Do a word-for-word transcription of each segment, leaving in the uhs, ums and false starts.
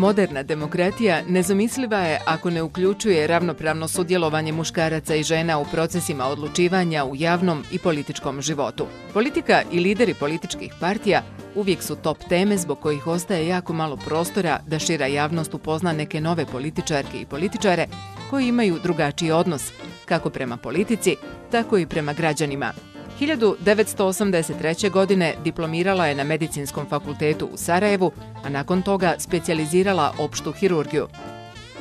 Moderna demokratija nezamisliva je ako ne uključuje ravnopravno sudjelovanje muškaraca i žena u procesima odlučivanja u javnom i političkom životu. Politika i lideri političkih partija uvijek su top teme zbog kojih ostaje jako malo prostora da šira javnost upozna neke nove političarke i političare koji imaju drugačiji odnos, kako prema politici, tako i prema građanima. hiljadu devetsto osamdeset treće. godine diplomirala je na Medicinskom fakultetu u Sarajevu, a nakon toga specijalizirala opštu hirurgiju.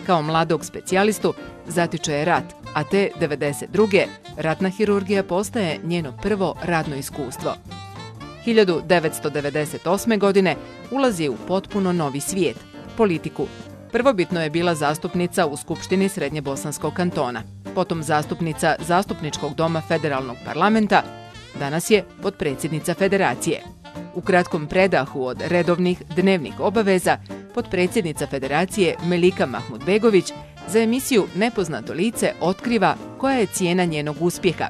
Kao mladog specijalistu zatiče je rat, a te devedeset druge. ratna hirurgija postaje njeno prvo radno iskustvo. hiljadu devetsto devedeset osme. godine ulazi u potpuno novi svijet, politiku. Prvobitno je bila zastupnica u Skupštini Srednjebosanskog kantona, potom zastupnica Zastupničkog doma Federalnog parlamenta, danas je potpredsjednica Federacije. U kratkom predahu od redovnih dnevnih obaveza, potpredsjednica Federacije Melika Mahmudbegović za emisiju Nepoznato lice otkriva koja je cijena njenog uspjeha,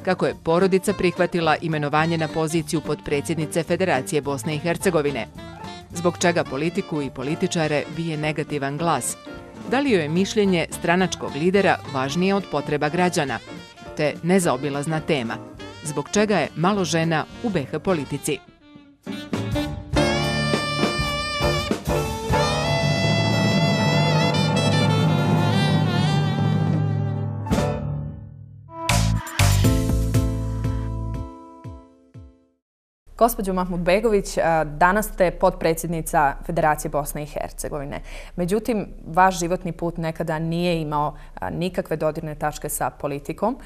kako je porodica prihvatila imenovanje na poziciju potpredsjednice Federacije Bosne i Hercegovine, zbog čega politiku i političare bije negativan glas, da li joj je mišljenje stranačkog lidera važnije od potreba građana, te nezaobilazna tema, zbog čega je malo žena u be ha politici. Gospođo Mahmudbegović, danas ste potpredsjednica Federacije Bosne i Hercegovine. Međutim, vaš životni put nekada nije imao nikakve dodirne tačke sa politikom.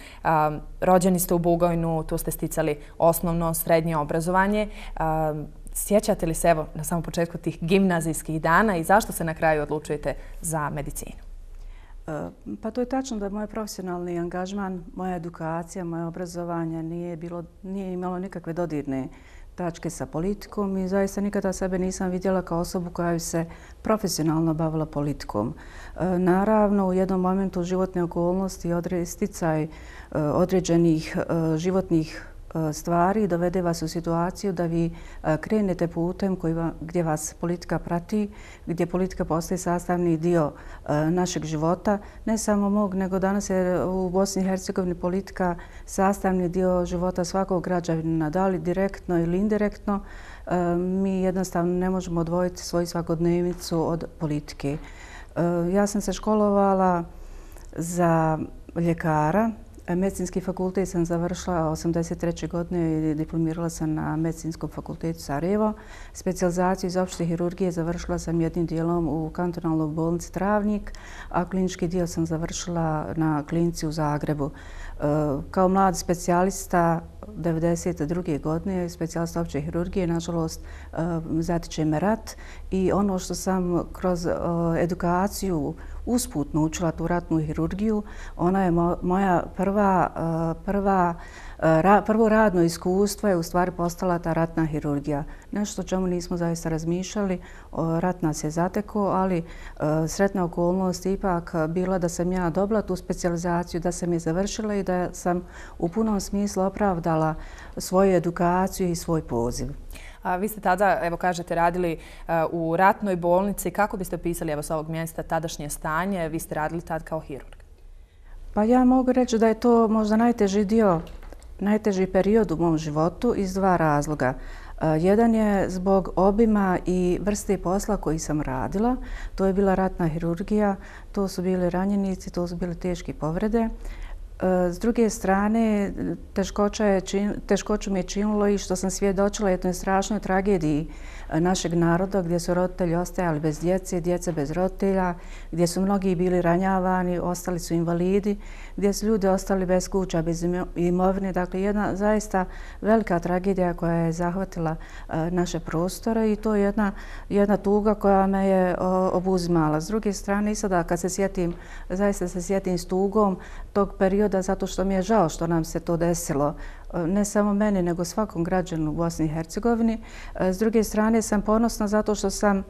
Rođeni ste u Bugojnu, tu ste sticali osnovno, srednje obrazovanje. Sjećate li se evo na samom početku tih gimnazijskih dana i zašto se na kraju odlučujete za medicinu? Pa to je tačno da moj profesionalni angažman, moja edukacija, moje obrazovanje nije, bilo, nije imalo nikakve dodirne tačke sa politikom i zaista nikada sebe nisam vidjela kao osobu koja bi se profesionalno bavila politikom. Naravno, u jednom momentu životne okolnosti i sticaj određenih životnih stvari dovede vas u situaciju da vi krenete putem koji va, gdje vas politika prati, gdje politika postaje sastavni dio našeg života. Ne samo mog, nego danas je u Bosni i Hercegovini politika sastavni dio života svakog građanina, da li direktno ili indirektno. Mi jednostavno ne možemo odvojiti svoju svakodnevnicu od politike. Ja sam se školovala za ljekara. Medicinski fakultet sam završila osamdeset treće. godine i diplomirala sam na Medicinskom fakultetu Sarajevo. Specijalizaciju iz opšte hirurgije završila sam jednim dijelom u kantonalnoj bolnici Travnik, a klinički dio sam završila na klinici u Zagrebu. Kao mlad specijalista devedeset druge. godine, specijalista opće hirurgije, nažalost zatiče me rat i ono što sam kroz edukaciju usput naučila tu ratnu hirurgiju, ona je moja prva, prva, prvo radno iskustvo je u stvari postala ta ratna hirurgija. Nešto o čemu nismo zaista razmišljali, rat nas je zatekao, ali sretna okolnost ipak bila da sam ja dobila tu specijalizaciju, da sam je završila i da sam u punom smislu opravdala svoju edukaciju i svoj poziv. A vi ste tada, evo kažete, radili u ratnoj bolnici. Kako biste opisali evo s ovog mjesta tadašnje stanje? Vi ste radili tad kao hirurg. Pa ja mogu reći da je to možda najteži dio, najteži period u mom životu iz dva razloga. Jedan je zbog obima i vrste posla koji sam radila. To je bila ratna hirurgija, to su bili ranjenici, to su bile teške povrede. S druge strane, teškoću mi je činilo i što sam svjedočila jednoj strašnoj tragediji našeg naroda gdje su roditelji ostajali bez djece, djece bez roditelja, gdje su mnogi bili ranjavani, ostali su invalidi, gdje su ljudi ostali bez kuća, bez imovine. Dakle, jedna zaista velika tragedija koja je zahvatila naše prostore i to je jedna, jedna tuga koja me je obuzimala. S druge strane, i sada kad se sjetim, zaista se sjetim s tugom tog perioda zato što mi je žao što nam se to desilo. ne samo meni, nego svakom građanu u Bosni i Hercegovini. S druge strane sam ponosna zato što sam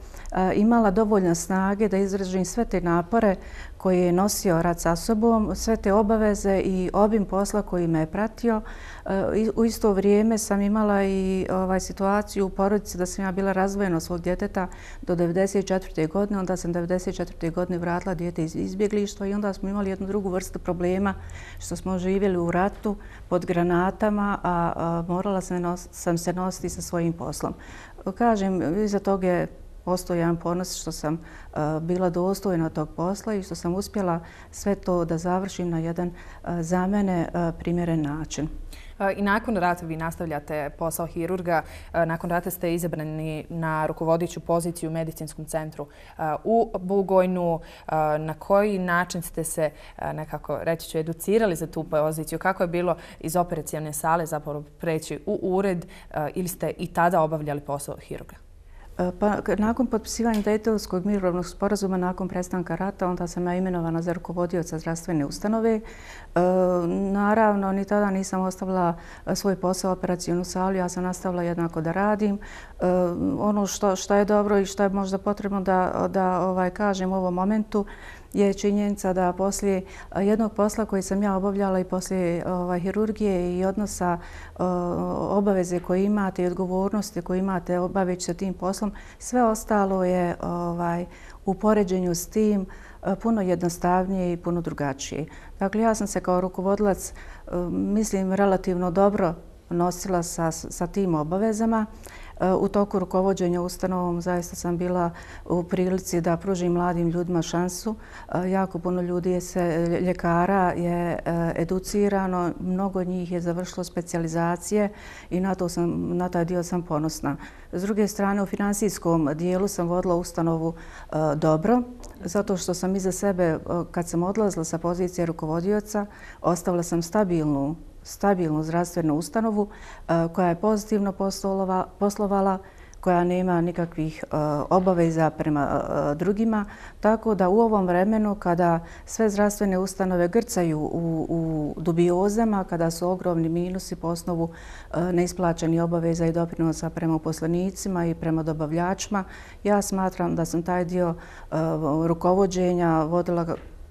imala dovoljno snage da izražim sve te napore koje je nosio rad sa sobom, sve te obaveze i obim posla koji me je pratio. U isto vrijeme sam imala i ovaj, situaciju u porodici da sam ja bila razdvojena od svog djeteta do devedeset četvrte. godine. Onda sam devedeset četvrte. godine vratila dijete iz izbjeglištva i onda smo imali jednu drugu vrstu problema što smo živjeli u ratu pod granatama, a, a morala sam, nos, sam se nositi sa svojim poslom. Kažem, iza toga je postoji jedan ponos što sam uh, bila dostojna tog posla i što sam uspjela sve to da završim na jedan uh, za mene uh, primjeren način. I nakon rata vi nastavljate posao hirurga. Nakon rata ste izabrani na rukovodeću poziciju u medicinskom centru u Bugojnu. Na koji način ste se, nekako reći ću, educirali za tu poziciju? Kako je bilo iz operacione sale zapravo preći u ured ili ste i tada obavljali posao hirurga? Pa, nakon potpisivanja Dejtonskog mirovnog sporazuma, nakon prestanka rata, onda sam ja imenovana za rukovodioca zdravstvene ustanove. E, naravno, ni tada nisam ostavila svoj posao u operacijonu salu, ja sam nastavila jednako da radim. E, ono što, što je dobro i što je možda potrebno da, da ovaj, kažem u ovom momentu, je činjenica da poslije jednog posla koji sam ja obavljala i poslije ovaj, hirurgije i odnosa o, obaveze koje imate i odgovornosti koje imate obaveći se tim poslom, sve ostalo je ovaj, u poređenju s tim puno jednostavnije i puno drugačije. Dakle, ja sam se kao rukovodilac, mislim, relativno dobro nosila sa, sa tim obavezama. U toku rukovođenja ustanovom zaista sam bila u prilici da pružim mladim ljudima šansu. Jako puno ljudi je se, ljekara je educirano, mnogo njih je završilo specijalizacije i na, to sam, na taj dio sam ponosna. S druge strane, u finansijskom dijelu sam vodila ustanovu dobro, zato što sam iza sebe, kad sam odlazila sa pozicije rukovodioca, ostavila sam stabilnu stabilnu zdravstvenu ustanovu koja je pozitivno poslovala, koja nema nikakvih obaveza prema drugima. Tako da u ovom vremenu kada sve zdravstvene ustanove grcaju u, u dubiozama, kada su ogromni minusi po osnovu neisplaćenih obaveza i doprinosa prema uposlenicima i prema dobavljačima, ja smatram da sam taj dio rukovođenja vodila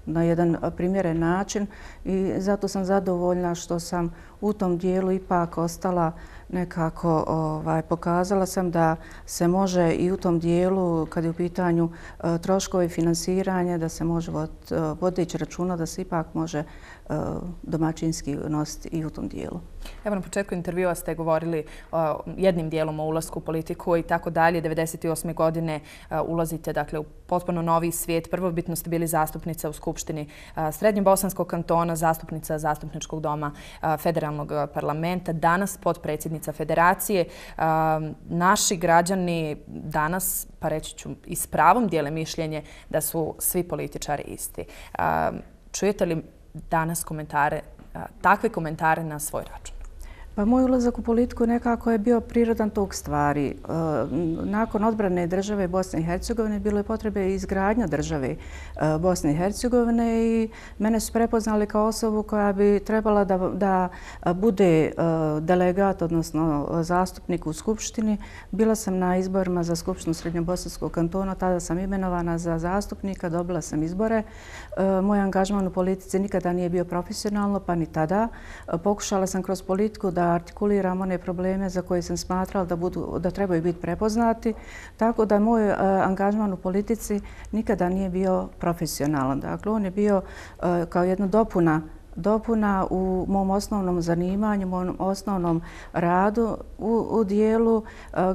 na jedan primjeren način i zato sam zadovoljna što sam u tom dijelu ipak ostala nekako, ovaj, pokazala sam da se može i u tom dijelu, kad je u pitanju uh, troškovi finansiranja, da se može vod, uh, vodeći računa da se ipak može uh, domaćinski nositi i u tom dijelu. Evo, na početku intervjua ste govorili uh, jednim dijelom o ulasku u politiku i tako dalje. devedeset osme. godine uh, ulazite, dakle, u potpuno novi svijet. Prvobitno ste bili zastupnica u Skupštini uh, Srednjobosanskog kantona, zastupnica Zastupničkog doma uh, Federalnog parlamenta, danas potpredsjednica Federacije. Uh, naši građani danas, pa reći ću, i s pravom dijele mišljenje da su svi političari isti. Uh, čujete li danas komentare, uh, takve komentare na svoj račun? Pa moj ulazak u politiku nekako je bio prirodan tog stvari. Nakon odbrane države Bosne i Hercegovine bilo je potrebe izgradnja države Bosne i Hercegovine i mene su prepoznali kao osobu koja bi trebala da, da bude delegat, odnosno zastupnik u Skupštini. Bila sam na izborima za Skupštinu Srednjobosanskog kantona, tada sam imenovana za zastupnika, dobila sam izbore. Moj angažman u politici nikada nije bio profesionalno, pa ni tada. Pokušala sam kroz politiku da artikuliram one probleme za koje sam smatrala da, budu, da trebaju biti prepoznati. Tako da moj uh, angažman u politici nikada nije bio profesionalan. Dakle, on je bio uh, kao jedna dopuna dopuna u mom osnovnom zanimanju, mom osnovnom radu u, u dijelu uh,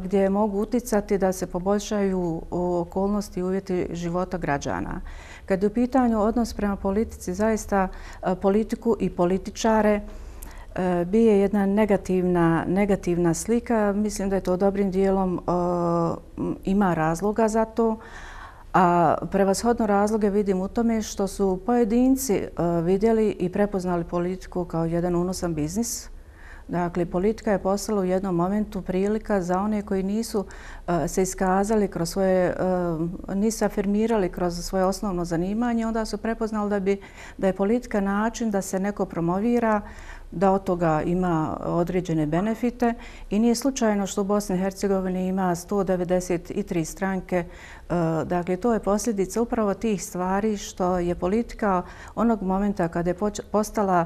gdje mogu uticati da se poboljšaju okolnosti i uvjeti života građana. Kad je u pitanju odnos prema politici, zaista uh, politiku i političare bije jedna negativna, negativna slika. Mislim da je to dobrim dijelom uh, ima razloga za to. A prevashodno razloge vidim u tome što su pojedinci uh, vidjeli i prepoznali politiku kao jedan unosan biznis. Dakle, politika je postala u jednom momentu prilika za one koji nisu uh, se iskazali kroz svoje, uh, nisu afirmirali kroz svoje osnovno zanimanje, onda su prepoznali da, bi, da je politika način da se neko promovira, da od toga ima određene benefite i nije slučajno što u Bosni i Hercegovini ima sto devedeset tri stranke. Dakle, to je posljedica upravo tih stvari što je politika onog momenta kada je postala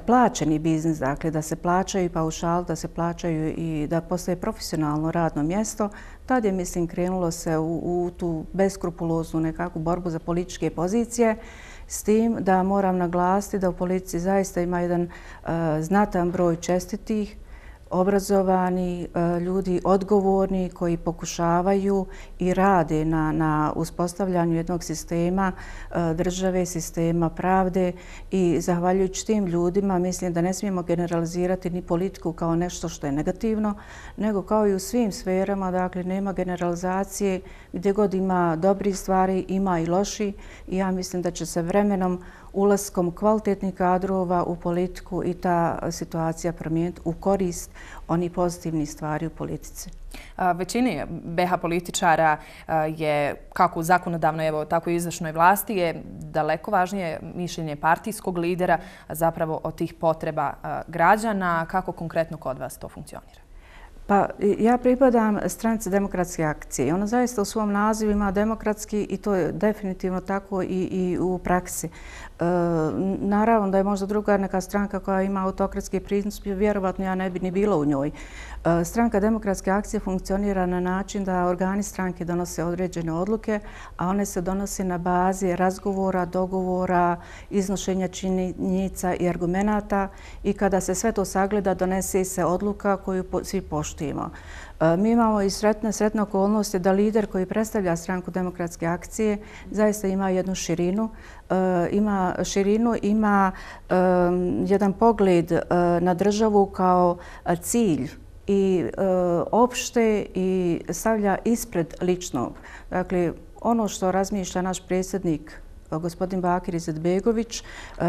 plaćeni biznis, dakle da se plaćaju paušal, da se plaćaju i da postaje profesionalno radno mjesto, tad je, mislim, krenulo se u, u tu beskrupuloznu nekakvu borbu za političke pozicije, s tim da moram naglasiti da u politici zaista ima jedan uh, znatan broj čestitih, obrazovani ljudi, odgovorni, koji pokušavaju i rade na, na uspostavljanju jednog sistema države, sistema pravde i zahvaljujući tim ljudima mislim da ne smijemo generalizirati ni politiku kao nešto što je negativno, nego kao i u svim sferama, dakle nema generalizacije, gdje god ima dobrih stvari, ima i loši i ja mislim da će se vremenom ulaskom kvalitetnih kadrova u politiku i ta situacija promijeniti u korist onih pozitivnih stvari u politici. Većini B H političara je, kako u zakonodavnoj, evo, tako i izvršnoj vlasti, je daleko važnije mišljenje partijskog lidera zapravo od tih potreba građana. Kako konkretno kod vas to funkcionira? Pa ja pripadam stranci Demokratske akcije. Ona zaista u svom nazivu ima demokratski i to je definitivno tako i, i u praksi. E, naravno da je možda druga neka stranka koja ima autokratski pristup, vjerovatno ja ne bi ni bila u njoj. E, stranka Demokratske akcije funkcionira na način da organi stranke donose određene odluke, a one se donose na bazi razgovora, dogovora, iznošenja činjenica i argumenata i kada se sve to sagleda donese se odluka koju svi poštuju. Mi imamo i sretne, sretne okolnosti da lider koji predstavlja stranku Demokratske akcije zaista ima jednu širinu, ima širinu, ima jedan pogled na državu kao cilj i opšte i stavlja ispred ličnog. Dakle, ono što razmišlja naš predsjednik gospodin Bakir Izetbegović,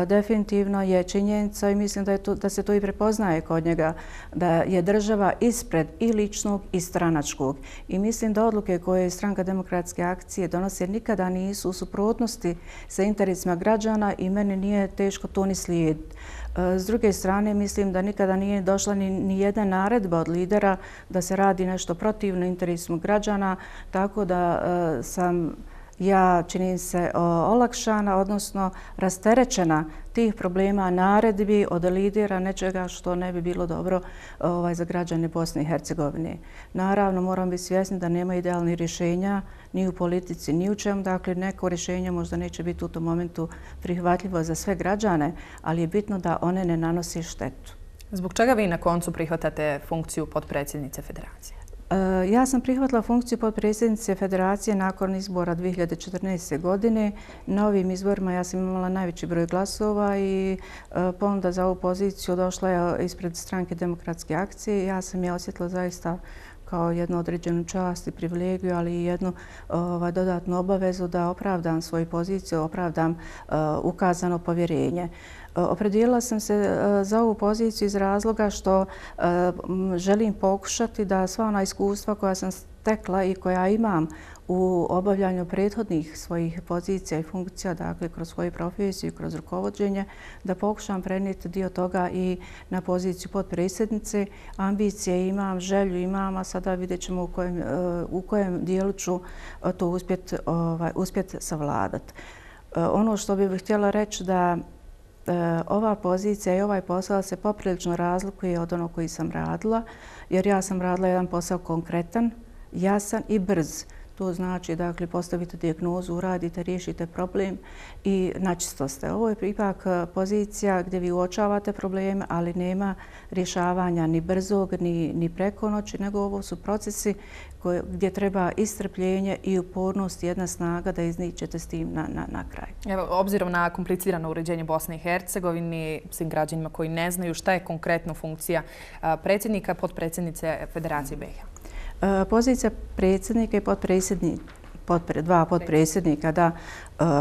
definitivno je činjenica i mislim da, je to, da se to i prepoznaje kod njega, da je država ispred i ličnog i stranačkog. I mislim da odluke koje stranka Demokratske akcije donose nikada nisu u suprotnosti sa interesima građana i meni nije teško to ni slijediti. S druge strane, mislim da nikada nije došla ni, ni jedna naredba od lidera da se radi nešto protivno interesima građana, tako da uh, sam ja, čini se, olakšana, odnosno rasterećena tih problema naredbi od lidera nečega što ne bi bilo dobro ovaj, za građane Bosne i Hercegovine. Naravno, moram biti svjesni da nema idealnih rješenja ni u politici, ni u čemu. Dakle, neko rješenje možda neće biti u tom momentu prihvatljivo za sve građane, ali je bitno da one ne nanosi štetu. Zbog čega vi na koncu prihvatate funkciju potpredsjednice Federacije? Ja sam prihvatila funkciju potpredsjednice Federacije nakon izbora dvije hiljade četrnaeste. godine. Na ovim izborima ja sam imala najveći broj glasova i ponuda za ovu poziciju došla je ispred stranke Demokratske akcije. Ja sam je osjetila zaista kao jednu određenu čast i privilegiju, ali i jednu ovaj, dodatnu obavezu da opravdam svoju poziciju, opravdam uh, ukazano povjerenje. Opredijelila sam se za ovu poziciju iz razloga što želim pokušati da sva ona iskustva koja sam stekla i koja imam u obavljanju prethodnih svojih pozicija i funkcija, dakle kroz svoju profesiju, kroz rukovođenje, da pokušam prenijeti dio toga i na poziciju potpredsjednice. Ambicije imam, želju imam, a sada vidjet ćemo u kojem, u kojem dijelu ću to uspjeti ovaj, uspjet savladati. Ono što bih htjela reći da ova pozicija i ovaj posao se poprilično razlikuje od onog koji sam radila, jer ja sam radila jedan posao konkretan, jasan i brz. To znači, dakle, postavite dijagnozu, uradite, riješite problem i načisto ste. Ovo je ipak pozicija gdje vi uočavate probleme, ali nema rješavanja ni brzog, ni, ni preko noći, nego ovo su procesi koje, gdje treba i strpljenje i upornost, jedna snaga da izničete s tim na, na, na kraj. Evo, obzirom na komplicirano uređenje Bosne i Hercegovine, svim građanima koji ne znaju šta je konkretno funkcija predsjednika, potpredsjednice Federacije B iH. Pozicija predsjednika i potpredsjednika, dva potpredsjednika, da,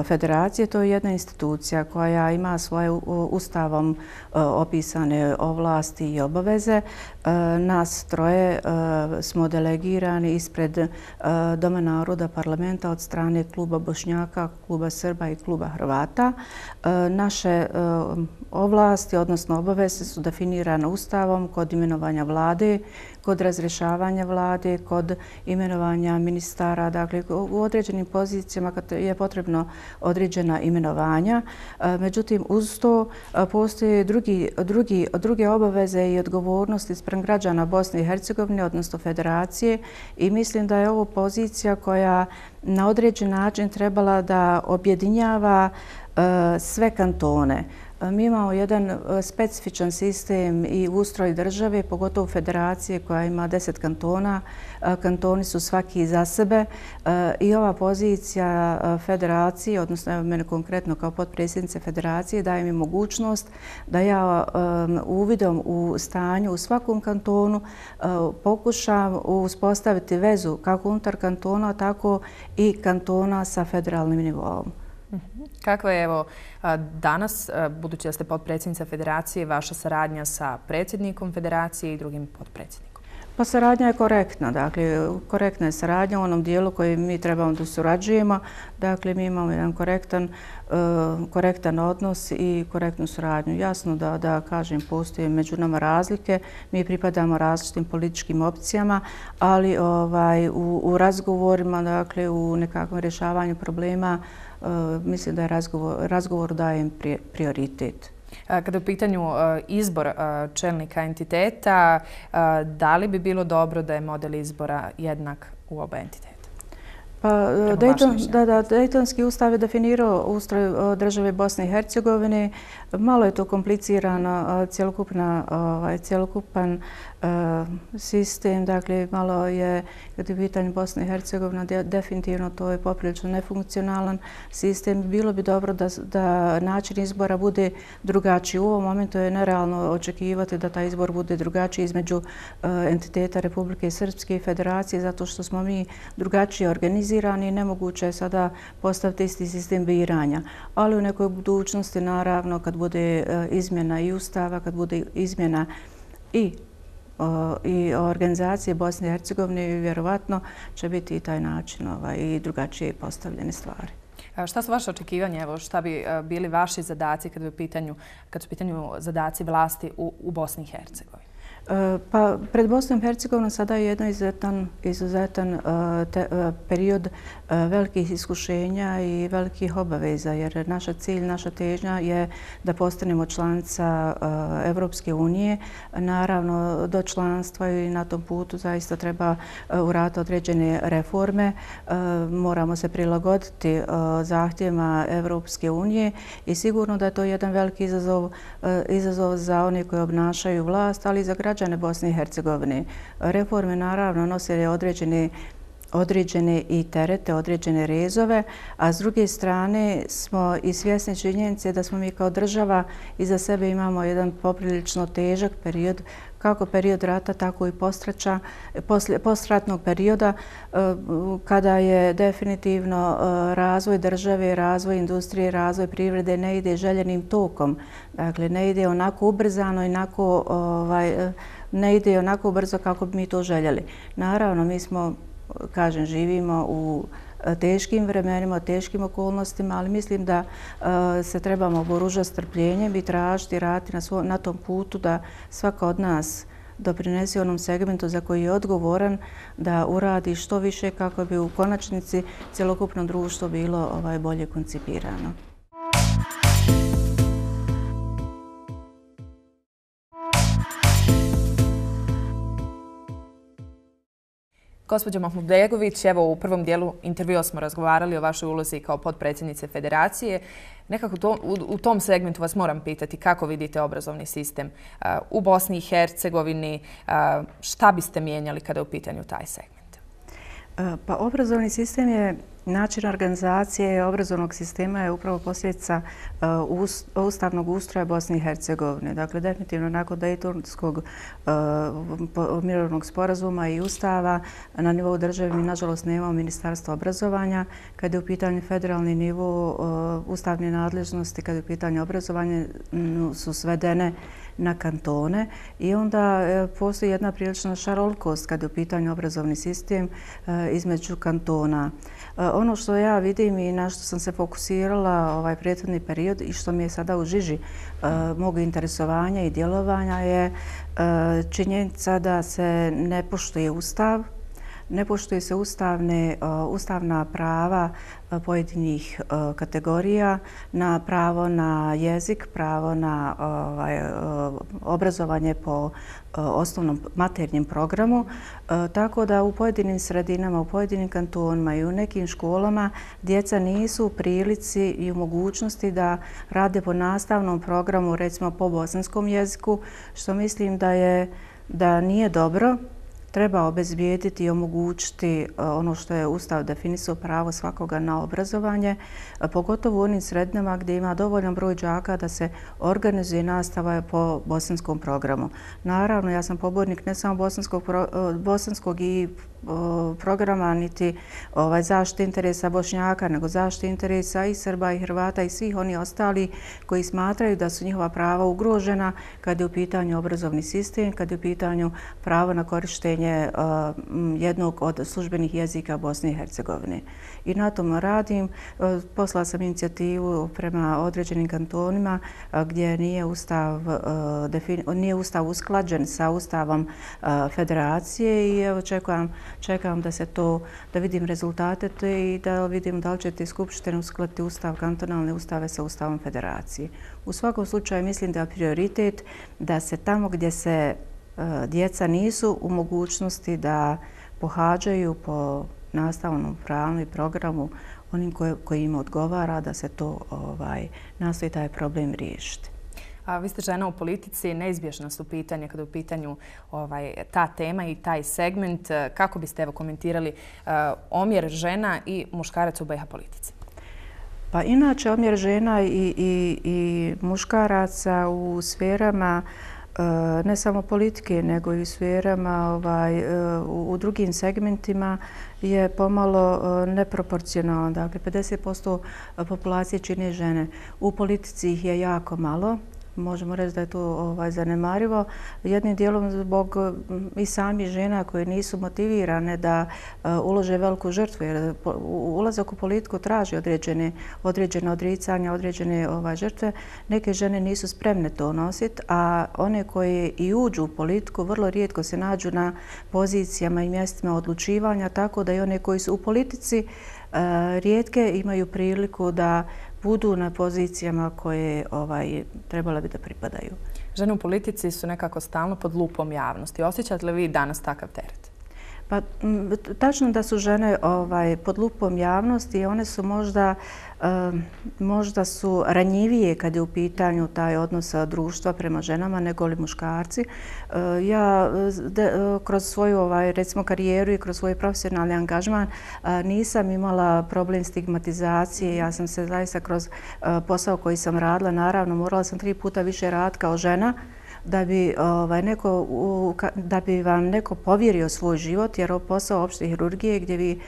federacije. To je jedna institucija koja ima svoje ustavom opisane ovlasti i obaveze. Nas troje smo delegirani ispred Doma naroda parlamenta od strane kluba Bošnjaka, kluba Srba i kluba Hrvata. Naše ovlasti, odnosno obaveze, su definirane ustavom kod imenovanja vlade, kod razrješavanja vlade, kod imenovanja ministara. Dakle, u određenim pozicijama kad je potrebno određena imenovanja. Međutim, uz to postoje drugi, drugi, druge obaveze i odgovornosti spram građana Bosne i Hercegovine, odnosno federacije, i mislim da je ovo pozicija koja na određen način trebala da objedinjava sve kantone. Mi imamo jedan specifičan sistem i ustroj države, pogotovo federacije koja ima deset kantona. Kantoni su svaki za sebe i ova pozicija federacije, odnosno evo mene konkretno kao potpredsjednice federacije, daje mi mogućnost da ja uvidom u stanju u svakom kantonu pokušam uspostaviti vezu kako unutar kantona, tako i kantona sa federalnim nivoom. Kakva je evo danas, budući da ste potpredsjednica federacije, vaša saradnja sa predsjednikom federacije i drugim potpredsjednikom? Pa saradnja je korektna. Dakle, korektna je saradnja u onom dijelu koji mi trebamo da surađujemo. Dakle, mi imamo jedan korektan, korektan odnos i korektnu suradnju. Jasno da, da kažem, postoje među nama razlike. Mi pripadamo različitim političkim opcijama, ali ovaj, u, u razgovorima, dakle, u nekakvom rješavanju problema, mislim da je razgovor, razgovor dajem prioritet. Kada je u pitanju izbor čelnika entiteta, da li bi bilo dobro da je model izbora jednak u oba entiteta? Pa, Dayton, da, da, Daytonski ustav je definirao ustroj države Bosne i Hercegovine. Malo je to komplicirano, cjelokupna, ovaj, cjelokupan uh, sistem. Dakle, malo je, kad je pitanje Bosne i Hercegovina, de, definitivno to je poprilično nefunkcionalan sistem. Bilo bi dobro da, da način izbora bude drugačiji. U ovom momentu je nerealno očekivati da taj izbor bude drugačiji između uh, entiteta Republike Srpske i Federacije, zato što smo mi drugačije organizirani i nemoguće je sada postaviti isti sistem biranja. Ali u nekoj budućnosti, naravno, kad bude izmjena i ustava, kad bude izmjena i, i organizacije Bosne i Hercegovine, vjerovatno će biti i taj način ovaj, i drugačije postavljene stvari. Šta su vaše očekivanja? Evo, šta bi bili vaši zadaci kad, u pitanju, kad su u pitanju zadaci vlasti u, u Bosni i Hercegovini? Pa, pred Bosnom i Hercegovinom sada je jedan izuzetan, izuzetan te, period velikih iskušenja i velikih obaveza, jer naša cilj, naša težnja je da postanemo članica Evropske unije. Naravno, do članstva i na tom putu zaista treba uraditi određene reforme. Moramo se prilagoditi zahtjevima Evropske unije i sigurno da je to jedan veliki izazov, izazov za one koji obnašaju vlast, ali i za građane građane Bosne i Hercegovine. Reforme naravno nose određene, određene i terete, određene rezove, a s druge strane smo i svjesni činjenice da smo mi kao država iza sebe imamo jedan poprilično težak period, kako period rata, tako i postraća, postratnog perioda, kada je definitivno razvoj države, razvoj industrije, razvoj privrede ne ide željenim tokom. Dakle, ne ide onako ubrzano i onako, ovaj, ne ide onako brzo kako bi mi to željeli. Naravno, mi smo, kažem, živimo u teškim vremenima, teškim okolnostima, ali mislim da uh, se trebamo oboružati strpljenjem i tražiti, raditi na, svo, na tom putu da svaka od nas doprinesi onom segmentu za koji je odgovoran, da uradi što više kako bi u konačnici cjelokupno društvo bilo ovaj, bolje koncipirano. Gospođo Mahmudbegović, evo u prvom dijelu intervjua smo razgovarali o vašoj ulozi kao potpredsjednice federacije. Nekako to, u, u tom segmentu vas moram pitati kako vidite obrazovni sistem uh, u Bosni i Hercegovini, uh, šta biste mijenjali kada je u pitanju taj segment? Pa obrazovni sistem je način organizacije obrazovnog sistema je upravo posljedica ustavnog ustroja Bosne i Hercegovine. Dakle, definitivno nakon Dejtonskog mirovnog sporazuma i ustava na nivou države mi nažalost nemamo ministarstvo obrazovanja. Kada je u pitanju federalni nivo ustavne nadležnosti, kada je u pitanju obrazovanja su svedene na kantone i onda postoji jedna prilična šarolikost kada je u pitanju obrazovni sistem između kantona. Ono što ja vidim i na što sam se fokusirala ovaj prethodni period i što mi je sada u žiži mog interesovanja i djelovanja je činjenica da se ne poštuje ustav, ne poštuje se ustavne, ustavna prava pojedinih kategorija, na pravo na jezik, pravo na ovaj, obrazovanje po osnovnom maternjem programu, tako da u pojedinim sredinama, u pojedinim kantonima i u nekim školama djeca nisu u prilici i u mogućnosti da rade po nastavnom programu, recimo po bosanskom jeziku, što mislim da je da nije dobro. Treba obezbijediti i omogućiti ono što je Ustav definisao, pravo svakoga na obrazovanje, pogotovo u onim sredinama gdje ima dovoljan broj đaka da se organizuje nastava po bosanskom programu. Naravno, ja sam pobornik ne samo bosanskog, bosanskog i programa niti ovaj, zaštite interesa Bošnjaka, nego zaštite interesa i Srba i Hrvata i svih oni ostali koji smatraju da su njihova prava ugrožena kad je u pitanju obrazovni sistem, kad je u pitanju pravo na korištenje uh, jednog od službenih jezika Bosne i Hercegovine. I na tom radim. Poslala sam inicijativu prema određenim kantonima gdje nije ustav, uh, nije ustav usklađen sa ustavom uh, federacije i evo čekam Čekam da se to, da vidim rezultate te i da vidim da li će te skupštine uskladiti ustav, kantonalne ustave sa ustavom federacije. U svakom slučaju mislim da je prioritet da se tamo gdje se uh, djeca nisu u mogućnosti da pohađaju po nastavnom planu i programu onim koji, koji im odgovara, da se to ovaj, nastoji taj problem riješiti. A vi ste žena u politici, neizbježna su pitanja kada je u pitanju ovaj, ta tema i taj segment. Kako biste evo komentirali uh, omjer žena i muškaraca u B iH politici? Pa inače omjer žena i, i, i muškaraca u sferama ne samo politike, nego i u sferama ovaj, u, u drugim segmentima je pomalo neproporcionalno. Dakle, pedeset posto populacije čine žene. U politici ih je jako malo. Možemo reći da je to ovaj, zanemarivo. Jednim dijelom zbog i sami žena koje nisu motivirane da uh, ulože veliku žrtvu, jer ulazak u politiku traži određene, određene odricanja, određene ovaj, žrtve. Neke žene nisu spremne to nositi, a one koje i uđu u politiku vrlo rijetko se nađu na pozicijama i mjestima odlučivanja, tako da i one koji su u politici uh, rijetke imaju priliku da budu na pozicijama koje ovaj, trebala bi da pripadaju. Žene u politici su nekako stalno pod lupom javnosti. Osjećate li vi danas takav teret? Pa, tačno da su žene ovaj, pod lupom javnosti i one su možda, um, možda su ranjivije kad je u pitanju taj odnos društva prema ženama nego li muškarci. Uh, ja de, kroz svoju ovaj, recimo karijeru i kroz svoj profesionalni angažman uh, nisam imala problem stigmatizacije. Ja sam se zaista kroz uh, posao koji sam radila, naravno morala sam tri puta više raditi kao žena da bi, ovaj, neko, da bi vam neko povjerio svoj život, jer posao opšte hirurgije gdje vi,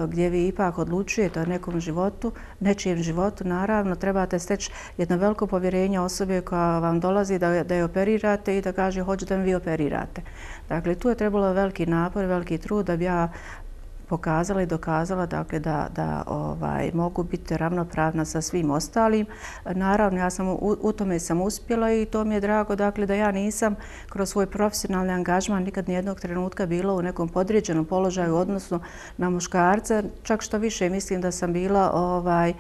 gdje vi ipak odlučujete o nekom životu, nečijem životu, naravno trebate steći jedno veliko povjerenje osobe koja vam dolazi da, da je operirate i da kaže hoću da mi vi operirate. Dakle, tu je trebalo veliki napor, veliki trud da bi ja pokazala i dokazala dakle, da, da ovaj, mogu biti ravnopravna sa svim ostalim. Naravno, ja sam u, u tome sam uspjela i to mi je drago dakle, da ja nisam kroz svoj profesionalni angažman nikad nijednog trenutka bila u nekom podređenom položaju odnosno na muškarca. Čak što više mislim da sam bila ovaj,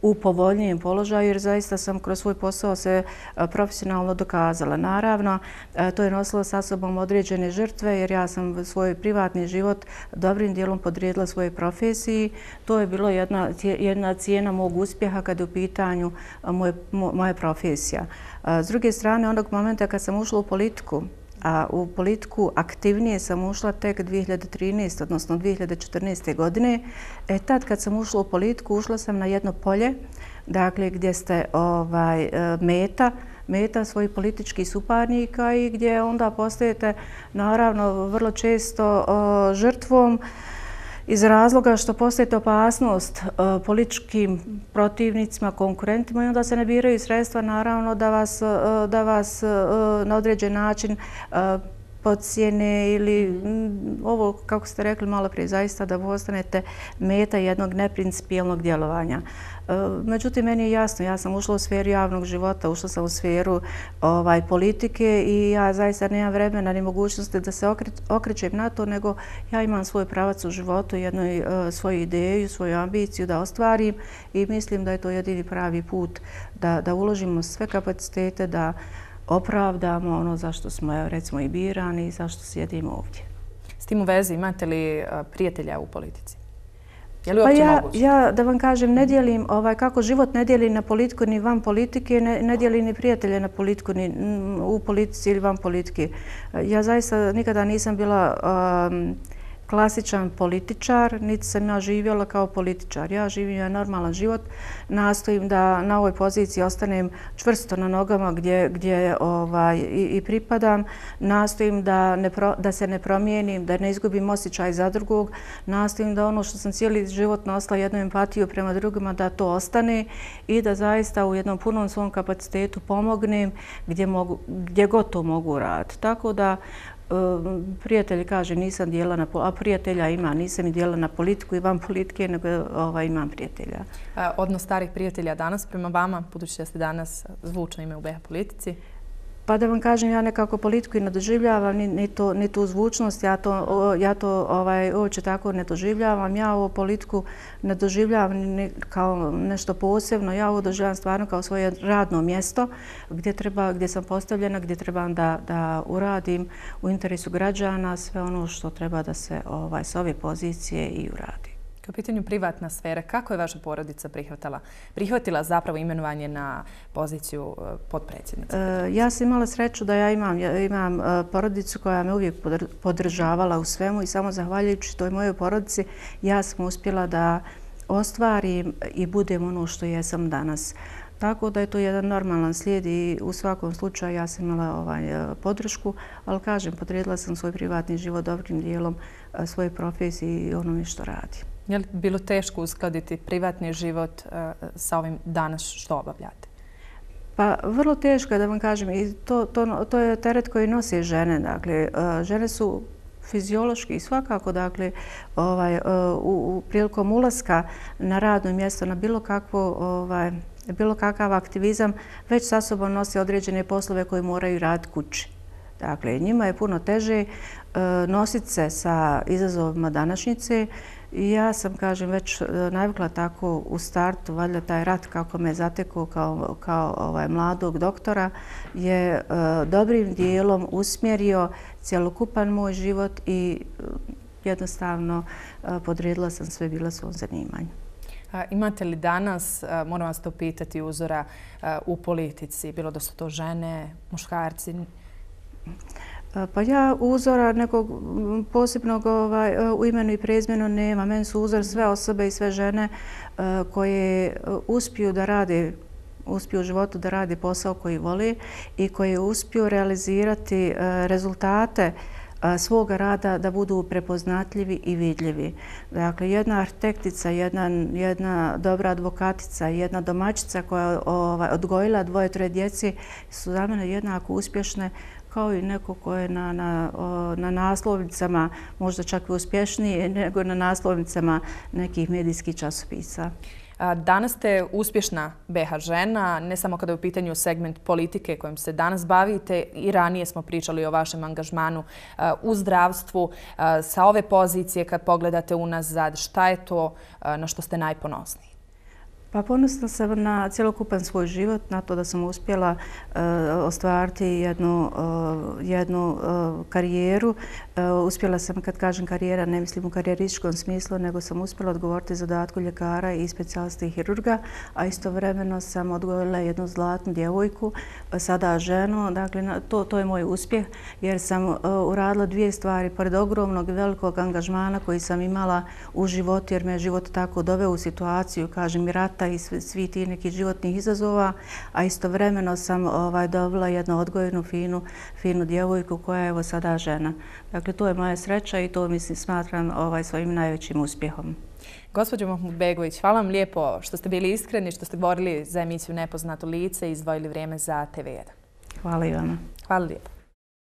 u povoljnijem položaju jer zaista sam kroz svoj posao se profesionalno dokazala. Naravno, to je nosilo sa sobom određene žrtve jer ja sam svoj privatni život dobrim dijelom podrijedila svojoj profesiji. To je bilo jedna, jedna cijena mog uspjeha kada je u pitanju moje, moja profesija. S druge strane, onog momenta kad sam ušla u politiku, a u politiku aktivnije sam ušla tek dvije hiljade trinaeste. odnosno dvije hiljade četrnaeste. godine. E, tad kad sam ušla u politiku, ušla sam na jedno polje, dakle gdje ste ovaj, meta, meta svojih političkih suparnika i gdje onda postajete naravno vrlo često o, žrtvom iz razloga što postajete opasnost uh, političkim protivnicima, konkurentima i onda se ne biraju sredstva naravno da vas, uh, da vas uh, na određen način uh, podsjene ili m, ovo, kako ste rekli malo prije, zaista da postanete meta jednog neprincipijelnog djelovanja. Međutim, meni je jasno, ja sam ušla u sferu javnog života, ušla sam u sferu ovaj, politike i ja zaista nemam vremena ni mogućnosti da se okrećem na to, nego ja imam svoj pravac u životu, jednu uh, svoju ideju, svoju ambiciju da ostvarim i mislim da je to jedini pravi put da, da uložimo sve kapacitete, da opravdamo ono zašto smo recimo i birani i zašto sjedimo ovdje. S tim u vezi imate li uh, prijatelja u politici? Je li uopće pa ja, moguće? Ja, da vam kažem, ne dijelim, ovaj, kako život ne dijeli na politiku ni van politike, ne, ne dijeli ni prijatelje na politiku, ni u politici ili van politike. Ja zaista nikada nisam bila um, klasičan političar, niti sam ja živjela kao političar. Ja živim jedan normalan život, nastojim da na ovoj poziciji ostanem čvrsto na nogama gdje, gdje ovaj, i, i pripadam, nastojim da, ne pro, da se ne promijenim, da ne izgubim osjećaj za drugog, nastojim da ono što sam cijeli život nosila jednu empatiju prema drugima, da to ostane i da zaista u jednom punom svom kapacitetu pomognem gdje, mogu, gdje god to mogu raditi. Tako da prijatelji kaže nisam dijela na, a prijatelja ima, nisam i dijela na politiku i van politike, nego ovaj, imam prijatelja. Odnos starih prijatelja danas prema vama, budući da ste danas zvučno ime u be ha politici? Pa da vam kažem, ja nekako politiku i ne doživljavam, ni, ni, to, ni tu zvučnost, ja to, ja to ovaj, uopće tako ne doživljavam. Ja ovu politiku ne doživljavam ni kao nešto posebno, ja ovo doživljavam stvarno kao svoje radno mjesto gdje, treba, gdje sam postavljena, gdje trebam da, da uradim u interesu građana sve ono što treba da se ovaj, s ove pozicije i uradi. Kao pitanju privatna sfera, kako je vaša porodica prihvatila, prihvatila zapravo imenovanje na poziciju potpredsjednice? E, ja sam imala sreću da ja imam, ja imam porodicu koja me uvijek podržavala u svemu i samo zahvaljujući toj mojoj porodici ja sam uspjela da ostvarim i budem ono što jesam danas. Tako da je to jedan normalan slijed i u svakom slučaju ja sam imala ovaj, podršku, ali kažem, podredila sam svoj privatni život dobrim dijelom svoje profesije i onome što radim. Je li bilo teško uskladiti privatni život uh, sa ovim danas što obavljate? Pa vrlo teško je da vam kažem i to, to, to je teret koji nose žene. Dakle, uh, žene su fiziološki i svakako dakle, ovaj, uh, u, u prilikom ulaska na radno mjesto, na bilo kakvo ovaj, bilo kakav aktivizam, već sa sobom nosi određene poslove koje moraju raditi kući. Dakle, njima je puno teže uh, nositi se sa izazovima današnjice. I ja sam, kažem, već navikla tako u startu, valjda taj rat kako me zatekao kao, kao ovaj, mladog doktora je uh, dobrim dijelom usmjerio cjelokupan moj život i uh, jednostavno uh, podredila sam sve bila svom zanimanju. A, imate li danas, a, moram vas to pitati, uzora a, u politici, bilo da su to žene, muškarci? Pa ja uzora nekog posebnog ovaj, u imenu i prezimenu nema. Meni su uzor sve osobe i sve žene uh, koje uspiju da rade, uspiju u životu da rade posao koji voli i koje uspiju realizirati uh, rezultate uh, svoga rada da budu prepoznatljivi i vidljivi. Dakle, jedna arhitektica, jedna, jedna dobra advokatica, jedna domaćica koja je ovaj, odgojila dvoje, troje djeci su za mene jednako uspješne kao i neko ko je na, na, na naslovnicama, možda čak i uspješnije nego na naslovnicama nekih medijskih časopisa. Danas ste uspješna be ha žena, ne samo kada je u pitanju segment politike kojim se danas bavite, i ranije smo pričali o vašem angažmanu u zdravstvu. Sa ove pozicije, kad pogledate unazad, šta je to na što ste najponosniji? Pa ponosna sam na cjelokupan svoj život, na to da sam uspjela uh, ostvariti jednu, uh, jednu uh, karijeru Uspjela sam, kad kažem karijera, ne mislim u karijerističkom smislu, nego sam uspjela odgovoriti zadatku ljekara i specijaliste i hirurga, a istovremeno sam odgojila jednu zlatnu djevojku, sada ženu. Dakle, to, to je moj uspjeh, jer sam uh, uradila dvije stvari. Pored ogromnog i velikog angažmana koji sam imala u životu, jer me je život tako doveo u situaciju, kažem, i rata i svi, svi ti neki životnih izazova, a istovremeno sam ovaj, dobila jednu odgojenu, finu, finu djevojku koja je evo sada žena. Dakle, to je moja sreća i to mislim smatram ovaj, svojim najvećim uspjehom. Gospođo Mahmudbegović, hvala vam lijepo što ste bili iskreni, što ste govorili za emisiju Nepoznato lice i izdvojili vrijeme za T V jedan. Hvala i vama. Hvala lijepo.